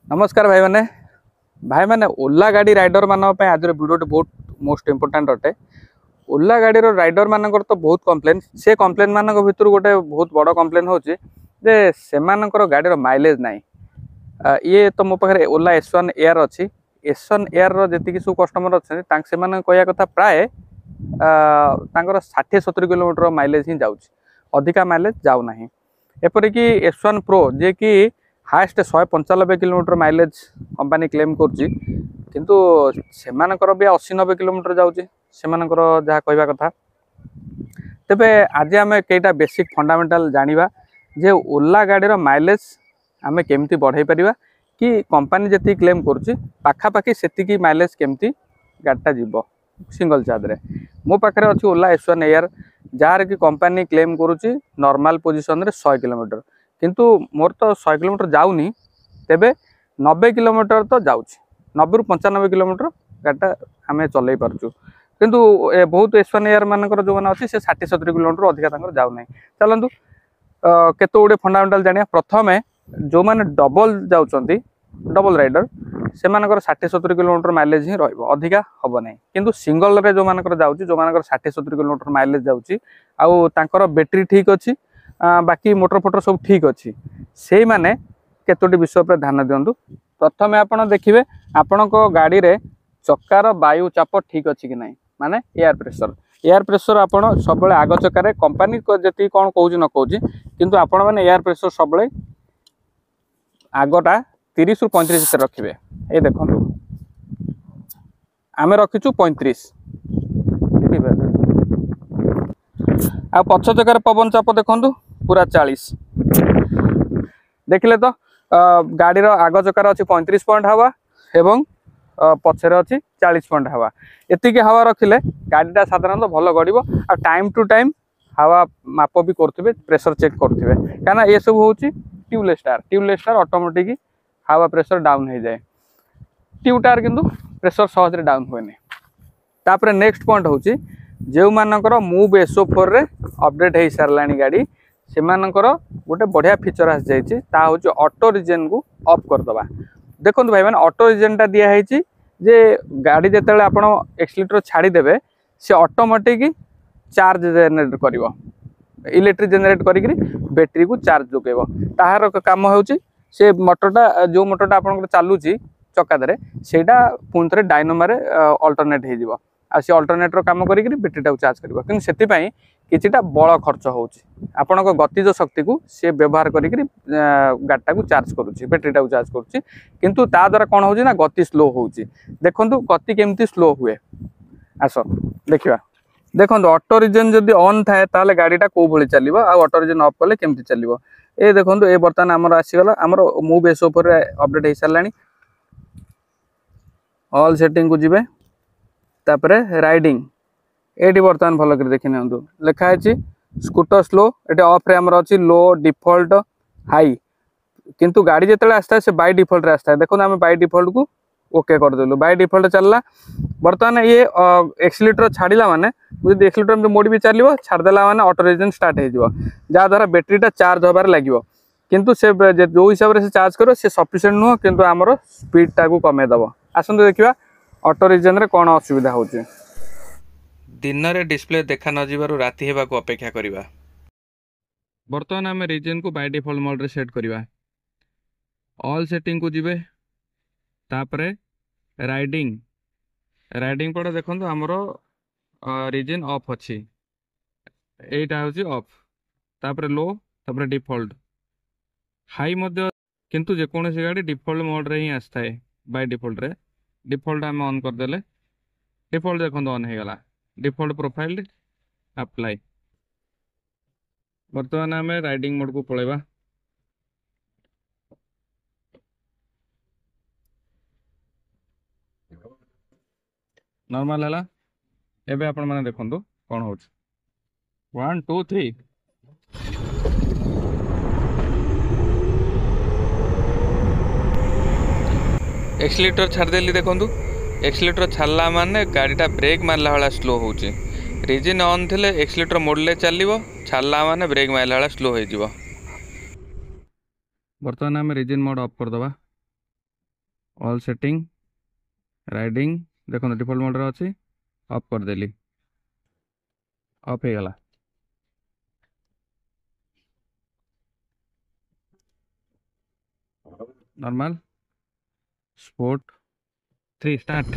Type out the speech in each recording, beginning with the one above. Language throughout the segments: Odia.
ନମସ୍କାର ଭାଇମାନେ। ଭାଇମାନେ, ଓଲା ଗାଡ଼ି ରାଇଡରମାନଙ୍କ ପାଇଁ ଆଜିର ଭିଡ଼ିଓଟି ବହୁତ ମୋଷ୍ଟ ଇମ୍ପୋର୍ଟାଣ୍ଟ ଅଟେ। ଓଲା ଗାଡ଼ିର ରାଇଡରମାନଙ୍କର ତ ବହୁତ କମ୍ପ୍ଲେନ୍। ସେ କମ୍ପ୍ଲେନ୍ ମାନଙ୍କ ଭିତରୁ ଗୋଟେ ବହୁତ ବଡ଼ କମ୍ପ୍ଲେନ୍ ହେଉଛି ଯେ ସେମାନଙ୍କର ଗାଡ଼ିର ମାଇଲେଜ୍ ନାହିଁ। ଇଏ ତ ମୋ ପାଖରେ ଓଲା ଏସ୍ ୱାନ୍ ଏୟାର ଅଛି। ଏସ୍ ୱାନ୍ ଏୟାରର ଯେତିକି ସବୁ କଷ୍ଟମର ଅଛନ୍ତି, ତାଙ୍କ ସେମାନଙ୍କ କହିବା କଥା ପ୍ରାୟ ତାଙ୍କର 60-70 କିଲୋମିଟର ମାଇଲେଜ୍ ହିଁ ଯାଉଛି, ଅଧିକା ମାଇଲେଜ୍ ଯାଉନାହିଁ। ଏପରିକି ଏସ୍ ୱାନ୍ ପ୍ରୋ, ଯିଏକି highest 195 kilometre mileage company claim କରୁଛି, କିନ୍ତୁ ସେମାନଙ୍କର ବି 80-90 କିଲୋମିଟର ଯାଉଛି, ସେମାନଙ୍କର ଯାହା କହିବା କଥା। ତେବେ ଆଜି ଆମେ କେଇଟା ବେସିକ୍ ଫଣ୍ଡାମେଣ୍ଟାଲ ଜାଣିବା ଯେ ଓଲା ଗାଡ଼ିର ମାଇଲେଜ୍ ଆମେ କେମିତି ବଢ଼େଇ ପାରିବା କି କମ୍ପାନୀ ଯେତିକି କ୍ଲେମ୍ କରୁଛି, ପାଖାପାଖି ସେତିକି ମାଇଲେଜ୍ କେମିତି ଗାଡ଼ିଟା ଯିବ ସିଙ୍ଗଲ ଚାର୍ଜରେ। ମୋ ପାଖରେ ଅଛି ଓଲା ଏସ୍ ୱାନ୍ ଏୟାର, ଯାହାର କି କମ୍ପାନୀ କ୍ଲେମ୍ କରୁଛି ନର୍ମାଲ ପୋଜିସନରେ 100 କିଲୋମିଟର। କିନ୍ତୁ ମୋର ତ 100 କିଲୋମିଟର ଯାଉନି, ତେବେ 90 କିଲୋମିଟର ତ ଯାଉଛି। 90ରୁ 95 କିଲୋମିଟର ଗାଡ଼ିଟା ଆମେ ଚଲେଇ ପାରୁଛୁ। କିନ୍ତୁ ଏ ବହୁତ ଏସ୍ ୱାନ୍ ଏୟାର ମାନଙ୍କର ଯେଉଁମାନେ ଅଛି, ସେ 60-70 କିଲୋମିଟର ଅଧିକା ତାଙ୍କର ଯାଉନାହିଁ। ଚାଲନ୍ତୁ, କେତେ ଗୁଡ଼ିଏ ଫଣ୍ଡାମେଣ୍ଟାଲ ଜାଣିବା। ପ୍ରଥମେ ଯେଉଁମାନେ ଡବଲ ଯାଉଛନ୍ତି, ଡବଲ ରାଇଡର, ସେମାନଙ୍କର 60-70 କିଲୋମିଟର ମାଇଲେଜ ହିଁ ରହିବ, ଅଧିକା ହେବ ନାହିଁ। କିନ୍ତୁ ସିଙ୍ଗଲରେ ଯେଉଁମାନଙ୍କର ଯାଉଛି, ଯେଉଁମାନଙ୍କର 60-70 କିଲୋମିଟର ମାଇଲେଜ ଯାଉଛି ଆଉ ତାଙ୍କର ବ୍ୟାଟେରୀ ଠିକ୍ ଅଛି, ବାକି ମୋଟର ଫୋଟର ସବୁ ଠିକ୍ ଅଛି, ସେଇମାନେ କେତୋଟି ବିଷୟ ଉପରେ ଧ୍ୟାନ ଦିଅନ୍ତୁ। ପ୍ରଥମେ ଆପଣ ଦେଖିବେ ଆପଣଙ୍କ ଗାଡ଼ିରେ ଚକାର ବାୟୁ ଚାପ ଠିକ୍ ଅଛି କି ନାହିଁ, ମାନେ ଏୟାର ପ୍ରେସର। ଏୟାର ପ୍ରେସର ଆପଣ ସବୁବେଳେ ଆଗ ଚକାରେ, କମ୍ପାନୀ ଯେତିକି କ'ଣ କହୁଛି ନ କହୁଛି, କିନ୍ତୁ ଆପଣମାନେ ଏୟାର ପ୍ରେସର ସବୁବେଳେ ଆଗଟା 30ରୁ 35 ଭିତରେ ରଖିବେ। ଏଇ ଦେଖନ୍ତୁ, ଆମେ ରଖିଛୁ 35। ଆଉ ପଛ ଚକାରେ ପବନ ଚାପ ଦେଖନ୍ତୁ ପୁରା 40। ଦେଖିଲେ ତ, ଗାଡ଼ିର ଆଗ ଚକାରେ ଅଛି 35 ପଏଣ୍ଟ ହାୱା ଏବଂ ପଛରେ ଅଛି 40 ପଏଣ୍ଟ ହାୱା। ଏତିକି ହାୱା ରଖିଲେ ଗାଡ଼ିଟା ସାଧାରଣତଃ ଭଲ ଗଡ଼ିବ। ଆଉ ଟାଇମ୍ ଟୁ ଟାଇମ୍ ହାୱା ମାପ ବି କରୁଥିବେ, ପ୍ରେସର ଚେକ୍ କରୁଥିବେ, କାହିଁକିନା ଏସବୁ ହେଉଛି tubeless tyre. Tubeless tyre automatic ହାୱା ପ୍ରେସର ଡାଉନ୍ ହେଇଯାଏ। ଟ୍ୟୁବ୍ ଟାୟାର କିନ୍ତୁ ପ୍ରେସର ସହଜରେ ଡାଉନ୍ ହୁଏନି। ତାପରେ ନେକ୍ସଟ ପଏଣ୍ଟ ହେଉଛି, ଯେଉଁମାନଙ୍କର ମୁଭ୍ ଏସ୍ଓ ଫୋର୍ରେ ଅପଡେଟ୍ ହେଇସାରିଲାଣି ଗାଡ଼ି, ସେମାନଙ୍କର ଗୋଟେ ବଢ଼ିଆ ଫିଚର ଆସିଯାଇଛି, ତାହା ହେଉଛି ଅଟୋ ରିଜେନ୍କୁ ଅଫ୍ କରିଦେବା। ଦେଖନ୍ତୁ ଭାଇମାନେ, ଅଟୋ ରିଜେନ୍ଟା ଦିଆହେଇଛି ଯେ ଗାଡ଼ି ଯେତେବେଳେ ଆପଣ ଏକ୍ସିଲେଟର ଛାଡ଼ିଦେବେ, ସେ ଅଟୋମେଟିକ୍ ଚାର୍ଜ ଜେନେରେଟ୍ କରିବ, ଇଲେକ୍ଟ୍ରିକ୍ ଜେନେରେଟ୍ କରିକିରି ବ୍ୟାଟେରୀକୁ ଚାର୍ଜ ଯୋଗାଇବ। ତାହାର କାମ ହେଉଛି ସେ ମଟରଟା, ଯେଉଁ ମଟରଟା ଆପଣଙ୍କର ଚାଲୁଛି ଚକା ଦେହରେ, ସେଇଟା ପୁଣି ଥରେ ଡାଇନାମୋରେ ଅଲ୍ଟରନେଟ୍ ହେଇଯିବ ଆଉ ସେ ଅଲ୍ଟରନେଟ୍ର କାମ କରିକିରି ବ୍ୟାଟେରୀଟାକୁ ଚାର୍ଜ କରିବ। କିନ୍ତୁ ସେଥିପାଇଁ କିଛିଟା ବଳ ଖର୍ଚ୍ଚ ହେଉଛି। ଆପଣଙ୍କ ଗତିଜ ଶକ୍ତିକୁ ସେ ବ୍ୟବହାର କରିକିରି ଗାଡ଼ିଟାକୁ ଚାର୍ଜ କରୁଛି, ବ୍ୟାଟେରୀଟାକୁ ଚାର୍ଜ କରୁଛି। କିନ୍ତୁ ତା ଦ୍ୱାରା କ'ଣ ହେଉଛି ନା ଗତି ସ୍ଲୋ ହେଉଛି। ଦେଖନ୍ତୁ ଗତି କେମିତି ସ୍ଲୋ ହୁଏ, ଆସ ଦେଖିବା। ଦେଖନ୍ତୁ, ଅଟୋ ରିଜେନ୍ ଯଦି ଅନ୍ ଥାଏ ତାହେଲେ ଗାଡ଼ିଟା କେଉଁ ଭଳି ଚାଲିବ ଆଉ ଅଟୋ ରିଜେନ୍ ଅଫ୍ କଲେ କେମିତି ଚାଲିବ। ଏ ଦେଖନ୍ତୁ, ଏ ବର୍ତ୍ତମାନ ଆମର ଆସିଗଲା, ଆମର ମୁଭ୍ ଏସ୍ ଉପରେ ଅପଡେଟ୍ ହେଇସାରିଲାଣି। ଅଲ୍ ସେଟିଂକୁ ଯିବେ, ତାପରେ ରାଇଡିଂ। ଏଇଠି ବର୍ତ୍ତମାନ ଭଲ କରି ଦେଖି ନିଅନ୍ତୁ, ଲେଖା ହେଇଛି ସ୍କୁଟର ସ୍ଲୋ। ଏଠି ଅଫ୍ରେ ଆମର ଅଛି ଲୋ, ଡିଫଲ୍ଟ, ହାଇ। କିନ୍ତୁ ଗାଡ଼ି ଯେତେବେଳେ ଆସିଥାଏ, ସେ ବାଇ ଡିଫଲ୍ଟରେ ଆସିଥାଏ। ଦେଖନ୍ତୁ, ଆମେ ବାଇ ଡିଫଲ୍ଟକୁ ଓକେ କରିଦେଲୁ, ବାଇ ଡିଫଲ୍ଟ ଚାଲିଲା। ବର୍ତ୍ତମାନ ଇଏ ଏକ୍ସିଲେଟର ଛାଡ଼ିଲା ମାନେ, ମୁଁ ଯଦି ଏକ୍ସିଲେଟର ଏମିତି ମୋଡ଼ି ବି ଚାଲିବ, ଛାଡ଼ିଦେଲା ମାନେ ଅଟୋ ରିଜେନ୍ ଷ୍ଟାର୍ଟ ହେଇଯିବ, ଯାହାଦ୍ୱାରା ବ୍ୟାଟେରୀଟା ଚାର୍ଜ ହେବାରେ ଲାଗିବ। କିନ୍ତୁ ସେ ଯେଉଁ ହିସାବରେ ସେ ଚାର୍ଜ କରିବ, ସେ ସଫିସିଏଣ୍ଟ ନୁହଁ, କିନ୍ତୁ ଆମର ସ୍ପିଡ଼ଟାକୁ କମେଇ ଦେବ। ଆସନ୍ତୁ ଦେଖିବା ଅଟୋ ରିଜେନ୍ରେ କ'ଣ ଅସୁବିଧା ହେଉଛି। ଦିନରେ ଡିସପ୍ଲେ ଦେଖା ନଯିବାରୁ ରାତି ହେବାକୁ ଅପେକ୍ଷା କରିବା। ବର୍ତ୍ତମାନ ଆମେ ରିଜେନ୍କୁ ବାଇ ଡିଫଲ୍ଟ ମୋଡ଼ରେ ସେଟ୍ କରିବା। ଅଲ୍ ସେଟିଂକୁ ଯିବେ, ତାପରେ ରାଇଡିଂ। ରାଇଡିଂ ପରେ ଦେଖନ୍ତୁ ଆମର ରିଜେନ୍ ଅଫ୍ ଅଛି, ଏଇଟା ହେଉଛି ଅଫ୍। ତାପରେ ଲୋ, ତାପରେ ଡିଫଲ୍ଟ, ହାଇ ମଧ୍ୟ। କିନ୍ତୁ ଯେକୌଣସି ଗାଡ଼ି ଡିଫଲ୍ଟ ମୋଡ଼ରେ ହିଁ ଆସିଥାଏ ବାଇ ଡିଫଲ୍ଟରେ। ଡିଫଲ୍ଟ ଆମେ ଅନ୍ କରିଦେଲେ, ଡିଫଲ୍ଟ ଦେଖନ୍ତୁ ଅନ୍ ହେଇଗଲା, ଡିଫଲ୍ଟ ପ୍ରୋଫାଇଲ୍ ଆପ୍ଲାଏ। ବର୍ତ୍ତମାନ ଆମେ ରାଇଡିଂ ମୋଡ଼କୁ ପଳେଇବା। ନର୍ମାଲ ହେଲା। ଏବେ ଆପଣମାନେ ଦେଖନ୍ତୁ କ'ଣ ହେଉଛି। One, two, three. Accelerator ଛାଡ଼ିଦେଲି। ଦେଖନ୍ତୁ, ଏକ୍ସିଲେଟର ଛାଡ଼ିଲା ମାନେ ଗାଡ଼ିଟା ବ୍ରେକ୍ ମାରିଲା ଭଳିଆ ସ୍ଲୋ ହେଉଛି। ରିଜେନ୍ ଅନ୍ ଥିଲେ ଏକ୍ସିଲେଟର ମୋଡ଼ିଲେ ଚାଲିବ, ଛାଡ଼ିଲା ମାନେ ବ୍ରେକ୍ ମାରିଲା ଭଳିଆ ସ୍ଲୋ ହେଇଯିବ। ବର୍ତ୍ତମାନ ଆମେ ରିଜେନ୍ ମୋଡ଼ ଅଫ୍ କରିଦେବା। ଅଲ୍ ସେଟିଂ, ରାଇଡ଼ିଂ, ଦେଖନ୍ତୁ ଡିଫଲ୍ଟ ମୋଡ଼ରେ ଅଛି, ଅଫ୍ କରିଦେଲି, ଅଫ୍ ହେଇଗଲା। Normal, sport, 3, start.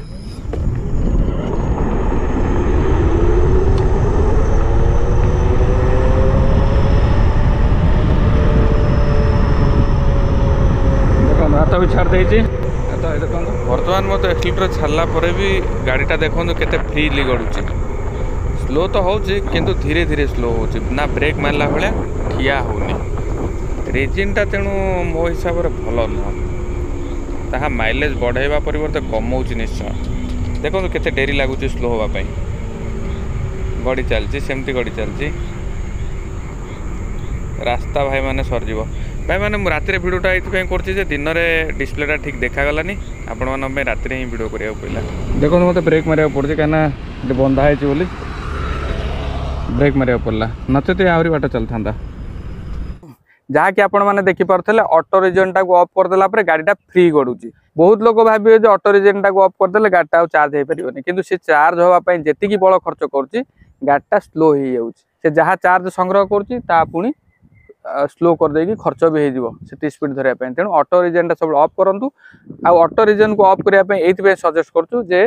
ଦେଖନ୍ତୁ, ହାତ ବି ଛାଡ଼ି ଦେଇଛି ତ, ଦେଖନ୍ତୁ। ବର୍ତ୍ତମାନ ମୋତେ ଏକ୍ସିଲେଟର ଛାଡ଼ିଲା ପରେ ବି ଗାଡ଼ିଟା ଦେଖନ୍ତୁ କେତେ ଫ୍ରିଲି ଗଡ଼ୁଛି। ସ୍ଲୋ ତ ହେଉଛି, କିନ୍ତୁ ଧୀରେ ଧୀରେ ସ୍ଲୋ ହେଉଛି ନା, ବ୍ରେକ୍ ମାରିଲା ଭଳିଆ ଠିଆ ହେଉନି ରେଜିନ୍ଟା। ତେଣୁ ମୋ ହିସାବରେ ଭଲ ନୁହଁ, ତାହା ମାଇଲେଜ୍ ବଢ଼ାଇବା ପରିବର୍ତ୍ତେ କମାଉଛି ନିଶ୍ଚୟ। ଦେଖନ୍ତୁ କେତେ ଡେରି ଲାଗୁଛି ସ୍ଲୋ ହେବା ପାଇଁ। ଗଡ଼ି ଚାଲିଛି, ସେମିତି ଗଡ଼ି ଚାଲିଛି। ରାସ୍ତା ଭାଇମାନେ ସରିଯିବ। ଭାଇମାନେ, ମୁଁ ରାତିରେ ଭିଡ଼ିଓଟା ଏଇଥିପାଇଁ କରୁଛି ଯେ ଦିନରେ ଡିସପ୍ଲେଟା ଠିକ୍ ଦେଖାଗଲାନି ଆପଣମାନଙ୍କ ପାଇଁ, ରାତିରେ ହିଁ ଭିଡ଼ିଓ କରିବାକୁ ପଡ଼ିଲା। ଦେଖନ୍ତୁ, ମୋତେ ବ୍ରେକ୍ ମାରିବାକୁ ପଡ଼ୁଛି, କାହିଁକିନା ଏଠି ବନ୍ଧା ହେଇଛି ବୋଲି ବ୍ରେକ୍ ମାରିବାକୁ ପଡ଼ିଲା, ନଚେତ ଆହୁରି ବାଟ ଚାଲିଥାନ୍ତା। ଯାହାକି ଆପଣମାନେ ଦେଖିପାରୁଥିଲେ, ଅଟୋ ରିଜେନଟାକୁ ଅଫ୍ କରିଦେଲା ପରେ ଗାଡ଼ିଟା ଫ୍ରି ଗଡ଼ୁଛି। ବହୁତ ଲୋକ ଭାବିବେ ଯେ ଅଟୋ ରିଜେନଟାକୁ ଅଫ୍ କରିଦେଲେ ଗାଡ଼ିଟା ଆଉ ଚାର୍ଜ ହେଇପାରିବନି, କିନ୍ତୁ ସେ ଚାର୍ଜ ହେବା ପାଇଁ ଯେତିକି ବଳ ଖର୍ଚ୍ଚ କରୁଛି, ଗାଡ଼ିଟା ସ୍ଲୋ ହେଇଯାଉଛି। ସେ ଯାହା ଚାର୍ଜ ସଂଗ୍ରହ କରୁଛି, ତାହା ପୁଣି ସ୍ଲୋ କରିଦେଇକି ଖର୍ଚ୍ଚ ବି ହେଇଯିବ ସେତିକି ସ୍ପିଡ଼ ଧରିବା ପାଇଁ। ତେଣୁ ଅଟୋ ରିଜେନଟା ସବୁବେଳେ ଅଫ୍ କରନ୍ତୁ। ଆଉ ଅଟୋ ରିଜେନକୁ ଅଫ୍ କରିବା ପାଇଁ ଏଇଥିପାଇଁ ସଜେଷ୍ଟ କରୁଛୁ ଯେ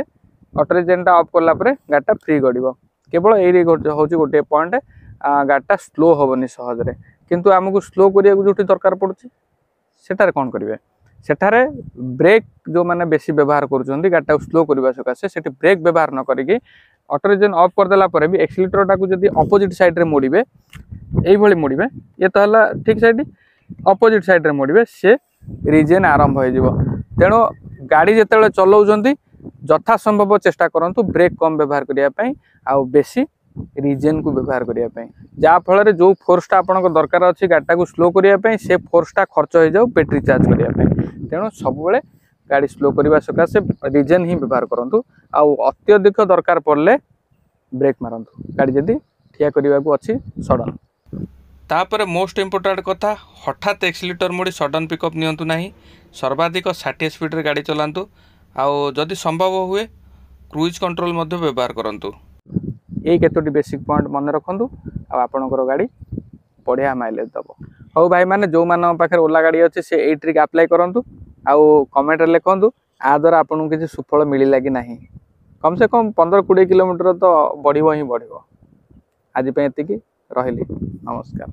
ଅଟୋ ରିଜେନଟା ଅଫ୍ କଲା ପରେ ଗାଡ଼ିଟା ଫ୍ରି ଗଡ଼ିବ। କେବଳ ଏଇ ହେଉଛି ଗୋଟିଏ ପଏଣ୍ଟ, ଗାଡ଼ିଟା ସ୍ଲୋ ହେବନି ସହଜରେ। କିନ୍ତୁ ଆମକୁ ସ୍ଲୋ କରିବାକୁ ଯେଉଁଠି ଦରକାର ପଡ଼ୁଛି, ସେଠାରେ କ'ଣ କରିବେ? ସେଠାରେ ବ୍ରେକ୍ ଯେଉଁମାନେ ବେଶୀ ବ୍ୟବହାର କରୁଛନ୍ତି ଗାଡ଼ିଟାକୁ ସ୍ଲୋ କରିବା ସକାଶେ, ସେଠି ବ୍ରେକ୍ ବ୍ୟବହାର ନ କରିକି ଅଟୋ ରିଜେନ୍ ଅଫ୍ କରିଦେଲା ପରେ ବି ଏକ୍ସିଲେଟରଟାକୁ ଯଦି ଅପୋଜିଟ୍ ସାଇଡ଼୍ରେ ମୋଡ଼ିବେ, ଏଇଭଳି ମୋଡ଼ିବେ, ଇଏ ତ ହେଲା ଠିକ୍ ସାଇଡ଼୍, ଅପୋଜିଟ୍ ସାଇଡ଼୍ରେ ମୋଡ଼ିବେ, ସେ ରିଜେନ୍ ଆରମ୍ଭ ହେଇଯିବ। ତେଣୁ ଗାଡ଼ି ଯେତେବେଳେ ଚଲାଉଛନ୍ତି, ଯଥା ସମ୍ଭବ ଚେଷ୍ଟା କରନ୍ତୁ ବ୍ରେକ୍ କମ୍ ବ୍ୟବହାର କରିବା ପାଇଁ ଆଉ ବେଶୀ ରିଜେନ୍କୁ ବ୍ୟବହାର କରିବା ପାଇଁ, ଯାହାଫଳରେ ଯେଉଁ ଫୋର୍ସଟା ଆପଣଙ୍କ ଦରକାର ଅଛି ଗାଡ଼ିଟାକୁ ସ୍ଲୋ କରିବା ପାଇଁ, ସେ ଫୋର୍ସଟା ଖର୍ଚ୍ଚ ହେଇଯାଉ ବ୍ୟାଟେରୀ ଚାର୍ଜ କରିବା ପାଇଁ। ତେଣୁ ସବୁବେଳେ ଗାଡ଼ି ସ୍ଲୋ କରିବା ସକାଶେ ରିଜେନ୍ ହିଁ ବ୍ୟବହାର କରନ୍ତୁ, ଆଉ ଅତ୍ୟଧିକ ଦରକାର ପଡ଼ିଲେ ବ୍ରେକ୍ ମାରନ୍ତୁ ଗାଡ଼ି ଯଦି ଠିଆ କରିବାକୁ ଅଛି ସଡ଼ନ୍। ତାପରେ ମୋଷ୍ଟ ଇମ୍ପୋର୍ଟାଣ୍ଟ କଥା, ହଠାତ୍ ଏକ୍ସିଲେଟର ମୋଡ଼ି ସଡ଼ନ୍ ପିକଅପ୍ ନିଅନ୍ତୁ ନାହିଁ। ସର୍ବାଧିକ 60 ସ୍ପିଡ଼ରେ ଗାଡ଼ି ଚଲାନ୍ତୁ, ଆଉ ଯଦି ସମ୍ଭବ ହୁଏ କ୍ରୁଜ୍ କଣ୍ଟ୍ରୋଲ ମଧ୍ୟ ବ୍ୟବହାର କରନ୍ତୁ। ଏଇ କେତୋଟି ବେସିକ୍ ପଏଣ୍ଟ ମନେ ରଖନ୍ତୁ ଆଉ ଆପଣଙ୍କର ଗାଡ଼ି ବଢ଼ିଆ ମାଇଲେଜ୍ ଦେବ। ହଉ ଭାଇମାନେ, ଯେଉଁମାନଙ୍କ ପାଖରେ ଓଲା ଗାଡ଼ି ଅଛି, ସେ ଏଇ ଟ୍ରିକ୍ ଆପ୍ଲାଏ କରନ୍ତୁ ଆଉ କମେଣ୍ଟରେ ଲେଖନ୍ତୁ ଆ ଦ୍ୱାରା ଆପଣଙ୍କୁ କିଛି ସୁଫଳ ମିଳିଲା କି ନାହିଁ। କମ୍ ସେ କମ୍ 15-20 କିଲୋମିଟର ତ ବଢ଼ିବ ହିଁ ବଢ଼ିବ। ଆଜି ପାଇଁ ଏତିକି ରହିଲି, ନମସ୍କାର।